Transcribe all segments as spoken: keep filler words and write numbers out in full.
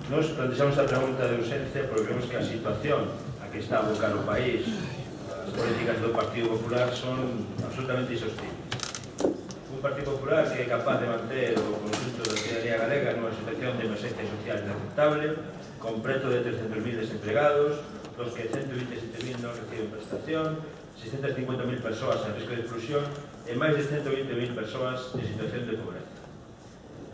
Nos plantexamos a pregunta de urgencia porque vemos que a situación a que está a abocar o país, as políticas do Partido Popular son absolutamente insostibles. Un Partido Popular que é capaz de manter o conjunto da ciudadanía galega nunha situación de emerxencia social inaceptable, con preto de trescentos mil desemplegados, dos que ciento vinte e sete mil non reciben prestación, seiscentas cincuenta mil persoas en risco de exclusión e máis de ciento vinte mil persoas en situación de pobreza.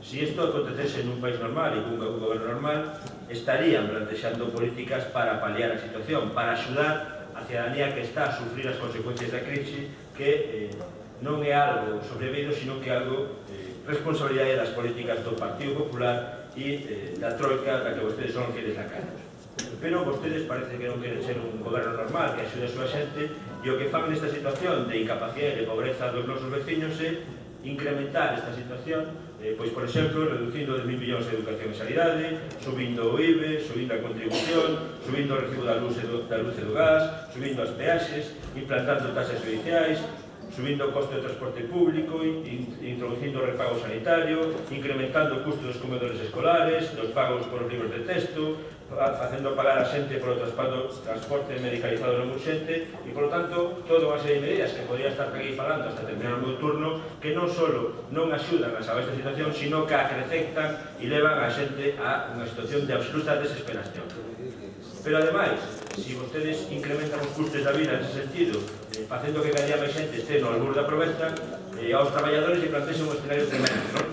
Si isto acontecese nun país normal e cun goberno normal, estarían plantexando políticas para paliar a situación, para axudar a ciudadanía que está a sufrir as consecuencias da crise, que eh, non é algo sobrevido, sino que é algo eh, responsabilidade das políticas do Partido Popular e eh, da troika da que vostedes son fieles a cara. Pero vostedes parece que non queren ser un goberno normal que axude a súa xente e o que fan nesta situación de incapacidade e de pobreza dos nosos veciños é incrementar esta situación, eh, pois, por exemplo, reducindo de mil millóns de educación e sanidade, subindo o I B E, subindo a contribución, subindo o recibo da luz e do, da luz e do gas, subindo as peaxes, implantando taxas judiciais, subindo o costo de transporte público, in, introducindo o repago sanitario, incrementando o custo dos comedores escolares, dos pagos por os libros de texto, facendo pagar a xente polo transporte medicalizado non urxente e, polo tanto, toda unha serie de medidas que podría estar aquí falando hasta terminar o meu turno que non só non axudan a salvar esta situación, sino que acrecentan e levan a xente a unha situación de absoluta desesperación. Pero, ademais, se vostedes incrementan os custes da vida nese sentido, eh, facendo que cada día máis xente este no albur da pobreza, eh, aos traballadores e plantexen un escenario tremendo, non?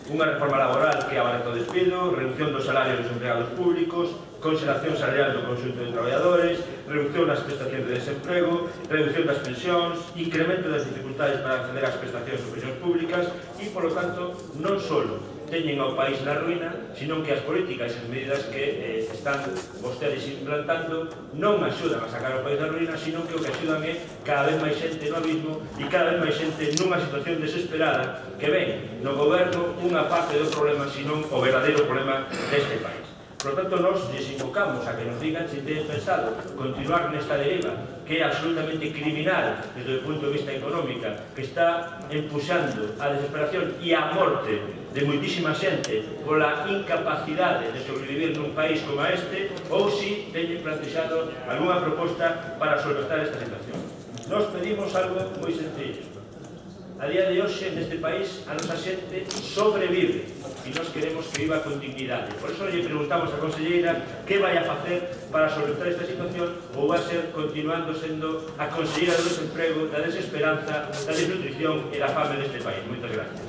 Unha reforma laboral que abarata o despido, reducción dos salarios dos empleados públicos, conxelación salarial do conxunto de traballadores, reducción das prestacións de desemprego, reducción das pensións, incremento das dificultades para acceder ás prestacións ou pensións públicas e, polo tanto, non só teñen ao país na ruína, sino que as políticas e as medidas que eh, están vostedes implantando non axudan a sacar o país da ruína, sino que o que axudan é cada vez máis xente no abismo e cada vez máis xente nunha situación desesperada que ven no goberno unha parte do problema, sino o verdadeiro problema deste país. Por lo tanto, nos les invocamos a que nos digan se teñen pensado continuar nesta deriva que é absolutamente criminal desde o punto de vista económica, que está empuxando a desesperación e a morte de moitísima xente pola incapacidade de sobrevivir nun país como este, ou se teñen plantexado algunha proposta para solventar esta situación. Nos pedimos algo moi sencillo. A día de hoxe, neste país, a nosa xente sobrevive e nós queremos que viva con dignidade. Por iso lle preguntamos á conselleira que vai a facer para solventar esta situación ou vai ser continuando sendo a conselleira do desemprego, da desesperanza, da desnutrición e da fame deste país. Moitas gracias.